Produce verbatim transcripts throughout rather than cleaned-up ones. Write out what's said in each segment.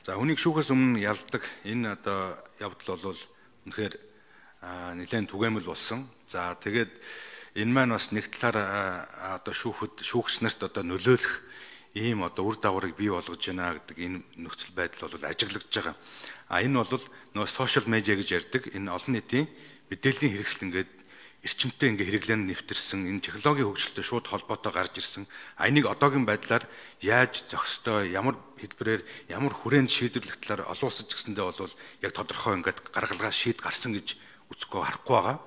За хүнийг шүүхээс өмнө ялдаг энэ одоо явдал бол үнэхээр нэлээд түгээмэл болсон. За тэгээд энэ маань бас нэг талаар одоо шүүхэд шүүгч нарт одоо нөлөөлөх ийм одоо үр дагаврыг бий болгож байна гэдэг энэ нөхцөл байдал бол ажиглагдж байгаа. А энэ бол нөө сошиал медиа гэж ярьдаг энэ олон нийтийн мэдээллийн хэрэгсэл ингээд эрчимтэй ингээ хэрэглэн нэвтэрсэн энэ технологийн хөгжилтэй шууд холбоотой гарч ирсэн. А энийг одоогийн байдлаар яаж зохистой, ямар хэлбэрээр, ямар хүрээнд шийдвэрлэх талаар олон улсад ч гэсэндээ бол яг тодорхой ингээд гаргалгаа шийд гарсан гэж үзэхгүй харахгүй байгаа.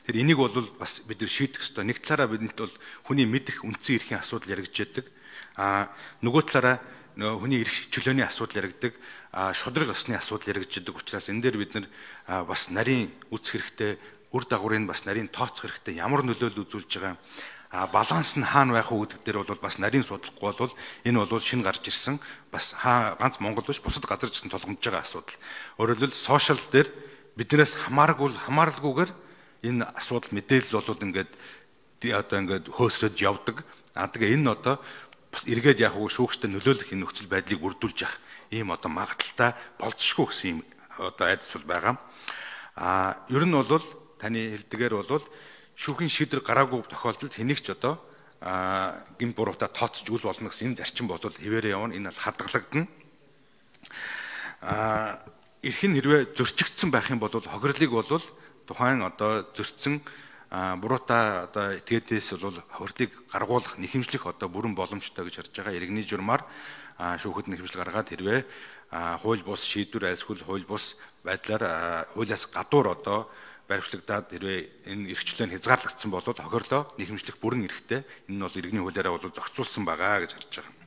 Тэр энийг бол бас бид нар шийдэх ёстой. Нэг талаараа бидэнд бол хүний мэдэх үндсэн эрхийн асуудал яригдж байдаг. А нөгөө талаараа хүний эрх чөлөөний асуудал яригддаг. А шудраг ёсны асуудал яригдж байдаг учраас энэ дээр бид нар бас нарийн үүсэх хэрэгтэй, үр дагаврыг бас нарийн тооцох хэрэгтэй, ямар нөлөөлөл үзүүлж байгаа а баланс нь хаана байх уу гэдэг дээр бол бас нарийн судлахгүй бол энэ бол шинэ гарч ирсэн бас ганц Монгол биш бусад газар ч толгомж байгаа асуудал. Өөрөөр хэлбэл сошиал дээр биднээс хамааргүй хамааралгүйгээр энэ асуудал мэдээлэл бол ингээд одоо ингээд хөөсрөд явдаг. А тэгээ энэ одоо эргээд яг шүүгчтэй нөлөөлөх энэ нөхцөл байдлыг үрдүүлж явах ийм одоо магадaltaй болцсохгүй гэсэн юм одоо айдас бол байгаа. А ер нь бол таны хэлдгээр бол шүүхийн шийдвэр гараагүй тохиолдолд хэнийг ч одоо гин буруутай тооцож үл болно гэсэн энэ зарчим бол хэвээрээ явна. Энэ бол хадгалагдана. А эрх нь хэрвээ зөрчигдсөн байх юм бол хохирлыг бол тухайн одоо зөрчсөн буруутай одоо этгээдээс бол хохирлыг гаргуулах, нэхэмжлэх одоо бүрэн боломжтой гэж харж байгаа. Иргэний журмаар шүүхэд нэхэмжил гаргаад хэрвээ хууль бус шийдвэр айлсгүй хууль бус байдлаар хуулиас гадуур одоо баримтлагдаад хэрвээ энэ эрхчлөө нь хязгаарлагдсан бол хохирлоо нэхэмжлэх бүрэн эрхтэй. Энэ нь бол иргэний хуулиараа бол зохицуулсан байгаа гэж харж байгаа.